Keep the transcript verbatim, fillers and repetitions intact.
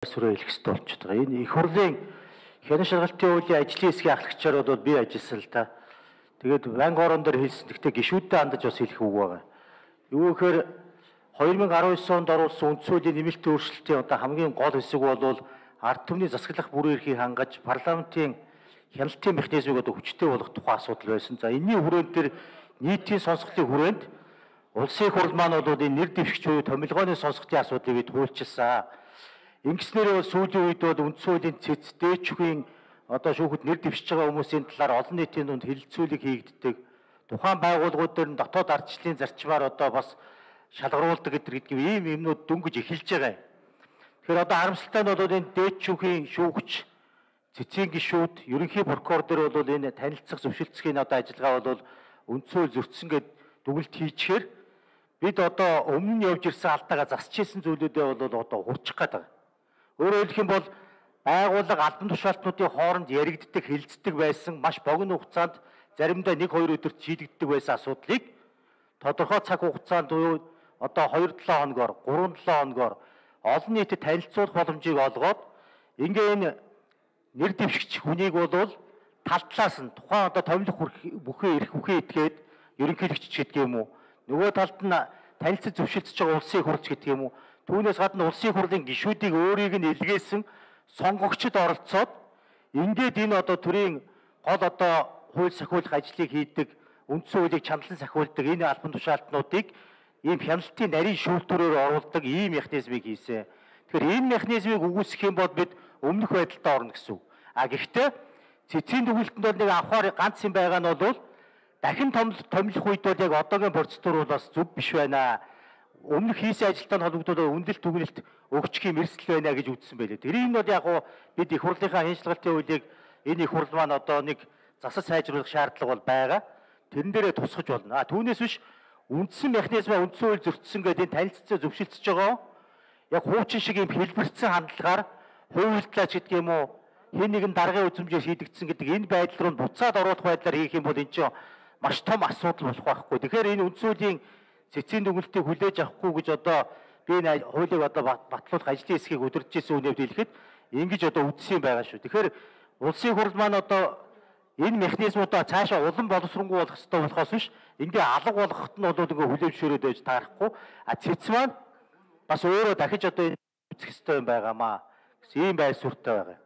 Сүрээ хэлэх хэрэгтэй болчиход байгаа. Энэ их хурлын хянан шалгалтын хуулийн ажлын хэсгийн ахлагчаар бол би ажилласан л та. Тэгээд банк орон дээр хэлсэн. Гэхдээ гишүүдтэй хандаж бас хэлэх үг байгаа. Юу гэхээр две тысячи десять онд оруулсан үндсэн хуулийн нэмэлтийн өөрчлөлтийн одоо хамгийн гол хэсэг бол ард түмний засаглах бүрэн эрхийг хангаж парламентын хяналтын механизмыг одоо хүчтэй болгох тухай асуудал байсан. За энэний хүрээнд дээр нийтийн сонсголтын хүрээнд улсын хурл маань бол энэ нэр дэвшигч буюу томилгооны сонсголтын асуудлыг бид хуульчилсан. Ингэснээр бол сүүлийн үед бол үндсэн хуулийн цэц дээчхийн одоо шүүхэд нэр дэвшиж байгаа хүмүүсийн талаар олон нийтийн дунд хэлэлцүүлэг хийгддэг. Тухайн байгууллагууд дээр нь дотоод ардчлалын зарчмаар одоо бас шалгаруулдаг гэдэг ийм юмнууд дөнгөж эхэлж байгаа юм. Тэгэхээр одоо харамсалтай нь бол энэ дээчхийн шүүгч, цэцгийн гишүүд, ерөнхий прокурор дээр бол энэ танилцах зөвшөлтсхийн одоо ажиллагаа бол үндсэн хууль зөрчсөн гэд дүгнэлт хийчихээр бид одоо өмнө нь явж ирсэн алдаагаа засч ирсэн зүйлүүдээ бол одоо хурчих гээд байгаа. Өөрөөр хэлэх юм бол байгууллага албан тушаалтнуудын хооронд яригддаг, хилцдэг байсан маш богино хугацаанд заримдаа нэг хоёр өдөрт шийдэгддэг байсан асуудлыг тодорхой цаг хугацаанд одоо хоёр долоо хоногор, гурван долоо хоногор олон нийтэд танилцуулах боломжийг олгоод ингээ энэ нэр дэвшигч хүнийг бол тал талаас нь тухайн одоо томилох бүхэн эрх бүхэн этгээд ерөнхийлөгч гэдэг юм уу, нөгөө талд нь танилцаж зөвшөлдөж байгаа улсын хурлч гэдэг юм уу, түүнээс гадна улсын хурлын гишүүдийг өөрийг нь илгээсэн сонгогчд оролцоод ингээд энэ одоо төрийн гол одоо хууль сахиулах ажлыг хийдэг, үндсэн хуулийг чандлан сахиулдаг энэ албан тушаалтнуудыг ийм хяналтын нарийн шүүлтүүрээр оруулдаг ийм механизмыг хийсэн. Тэгэхээр энэ механизмыг үгүйсгэх юм бол бид өмнөх байдалтай орно гэсэн үг. А гэхдээ цэцгийн дүгнэлтэнд бол нэг авахар ганц юм байгаа нь бол дахин томилох үед бол яг одоогийн процедур бол бас зөв биш байна. Өмнөх хийсэн ажилтай холбогдоод үнэлэлт дүгнэлт өгчих юм эрсдэл байна гэж үзсэн байлээ. Тэрийг нь бол яг уу бид их хурлынхаа хяншилгалтын хуулийг энэ их хурл маань одоо нэг засаж сайжруулах шаардлага бол байгаа. Тэрэн дээрээ тусгаж болно. А түүнээс биш үндсэн механизмаа үндсэн хууль зөрчсөн гэдэг энэ танилццаа зөвшөлдөж байгаа. Яг хуучин шиг юм хэлбэрцэн хандлагаар хуйлтлаач гэдэг юм уу, хэн нэгэн даргын үзмжээр шийдэгдсэн гэдэг энэ байдал руу буцаад оруулах байдлаар хийх юм бол энэ чинь маш том асуудал болох байхгүй. Тэгэхээр энэ үндсэн хуулийн цэцгийн дүгнэлтийг хүлээж авахгүй гэж одоо би энэ хуулийг одоо батлуулах ажлын хэсгийг удирдах гэсэн үнээр хэлэхэд ингэж одоо үдсэн юм байгаа шүү. Тэгэхээр улсын хурл маань одоо энэ механизмуудаа цаашаа улам боловсронгуй болох хэрэгтэй болохоос биш ингээ алга болгоход нь бол ингээ хүлээмжшөөрөөд байж таарахгүй. А цэц маань бас өөрөө дахиж одоо энэ үзэх хэрэгтэй юм байгаамаа гэсэн ийм байр суурьтай байгаа.